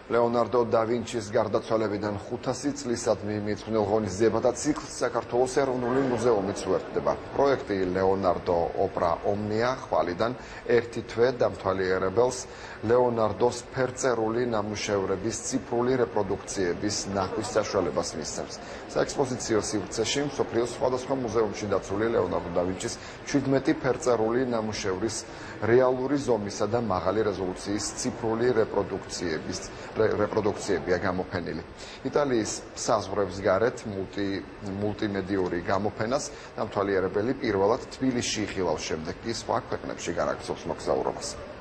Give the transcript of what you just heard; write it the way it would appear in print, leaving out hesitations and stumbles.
ლეონარდო და ვინჩის გარდაცვალებიდან 500 წლისადმი მიძღვნილ ღონისძიება და ციკლს საქართველოს ეროვნული მუზეუმიც უერთდება. პროექტი ლეონარდო ოპრა ომნია ხვალიდან ერთი თვე დამთვალიერებელს ლეონარდოს ფერწერული ნამუშევრების ციფრული რეპროდუქციების ნახვის საშუალებას მისცემს. საექსპოზიციო სივრცეში მსოფლიოს სხვადასხვა მუზეუმში დაცული ლეონარდო და ვინჩის 17 ფერწერული ნამუშევრის რეალური ზომისა და მაღალი რეზოლუციის ციფრული რეპროდუქციებია გამოფენილი. იტალიის საზღვრებს გარეთ მულტიმედიური გამოფენას დამთვალიერებელი პირველად თბილისში იხილავს, შემდეგ კი სხვა ქვეყნებში განაგრძობს მოგზაურობას.